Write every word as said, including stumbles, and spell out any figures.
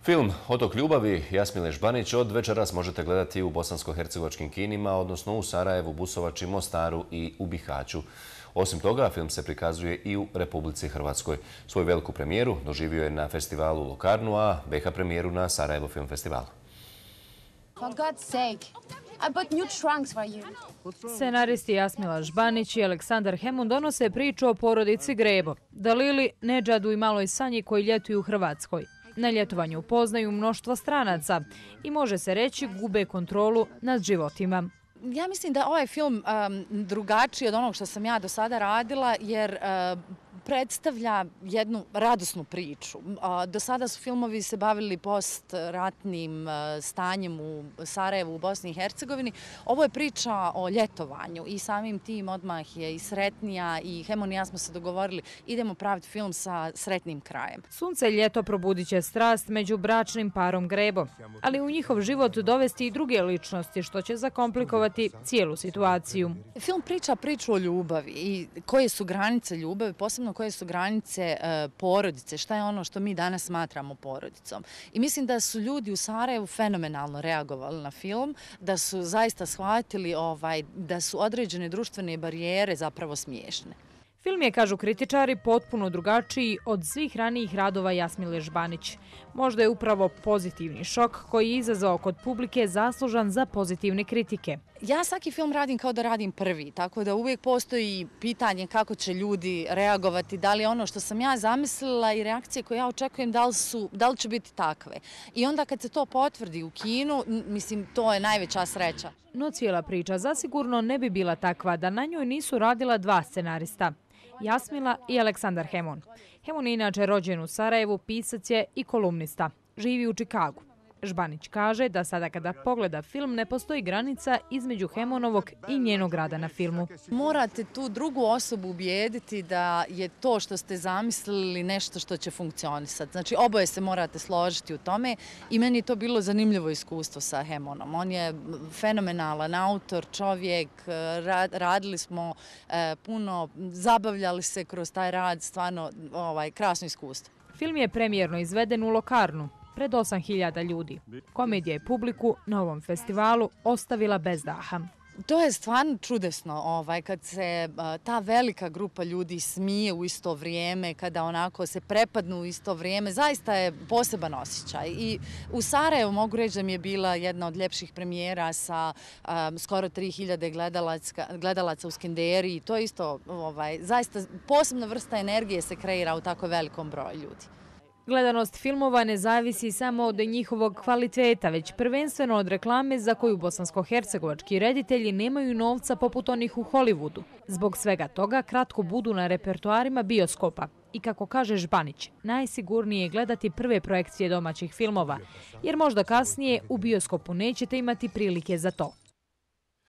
Film Otok ljubavi Jasmile Žbanić od večeras možete gledati u bosansko-hercegovačkim kinima, odnosno u Sarajevu, Busovači, Mostaru i u Bihaću. Osim toga, film se prikazuje i u Republici Hrvatskoj. Svoju veliku premijeru doživio je na festivalu Lokarnu, a B iH premijeru na Sarajevo film festivalu. For God's sake, I bought new trunks for you. Scenaristi Jasmila Žbanić i Aleksandar Hemun donose priču o porodici Grebo, Dalili, Nedžadu i maloj Sanji koji ljetuju u Hrvatskoj. Na ljetovanju upoznaju mnoštvo stranaca i može se reći gube kontrolu nad životima. Ja mislim da ovaj film um, drugačiji od onog što sam ja do sada radila jer uh, predstavlja jednu radosnu priču. Uh, do sada su filmovi se bavili postratnim uh, stanjem u Sarajevu, u Bosni i Hercegovini. Ovo je priča o ljetovanju i samim tim odmah je i sretnija i Hemun i ja smo se dogovorili idemo praviti film sa sretnim krajem. Sunce i ljeto probudit će strast među bračnim parom Grebo, ali u njihov život dovesti i druge ličnosti što će zakomplikovati cijelu situaciju. Film priča priču o ljubavi i koje su granice ljubavi, posebno koje su granice e, porodice, šta je ono što mi danas smatramo porodicom. I mislim da su ljudi u Sarajevu fenomenalno reagovali na film, da su zaista shvatili ovaj, da su određene društvene barijere zapravo smiješne. Film je, kažu kritičari, potpuno drugačiji od svih ranijih radova Jasmile Žbanić. Možda je upravo pozitivni šok koji je izazvao kod publike zaslužan za pozitivne kritike. Ja svaki film radim kao da radim prvi, tako da uvijek postoji pitanje kako će ljudi reagovati, da li ono što sam ja zamislila i reakcije koje ja očekujem, da li, su, da li će biti takve. I onda kad se to potvrdi u kinu, mislim, to je najveća sreća. No cijela priča zasigurno ne bi bila takva da na njoj nisu radila dva scenarista, Jasmila i Aleksandar Hemun. Hemun je inače rođen u Sarajevu, pisac je i kolumnista. Živi u Čikagu. Žbanić kaže da sada kada pogleda film ne postoji granica između Hemunovog i njenog rada na filmu. Morate tu drugu osobu ubijediti da je to što ste zamislili nešto što će funkcionisati. Znači oboje se morate složiti u tome i meni je to bilo zanimljivo iskustvo sa Hemunom. On je fenomenalan autor, čovjek, radili smo puno, zabavljali se kroz taj rad, stvarno ovaj, krasno iskustvo. Film je premijerno izveden u Lokarnu pred osam hiljada ljudi. Komedija je publiku na ovom festivalu ostavila bez daha. To je stvarno čudesno ovaj, kad se ta velika grupa ljudi smije u isto vrijeme, kada onako se prepadnu u isto vrijeme, zaista je poseban osjećaj. I u Sarajevu mogu reći da mi je bila jedna od ljepših premijera sa um, skoro tri hiljade gledalaca, gledalaca u Skenderiji. To je isto ovaj, zaista posebna vrsta energije se kreira u tako velikom broju ljudi. Gledanost filmova ne zavisi samo od njihovog kvaliteta, već prvenstveno od reklame za koju bosansko-hercegovački reditelji nemaju novca poput onih u Hollywoodu. Zbog svega toga kratko budu na repertoarima bioskopa. I kako kaže Žbanić, najsigurnije je gledati prve projekcije domaćih filmova, jer možda kasnije u bioskopu nećete imati prilike za to.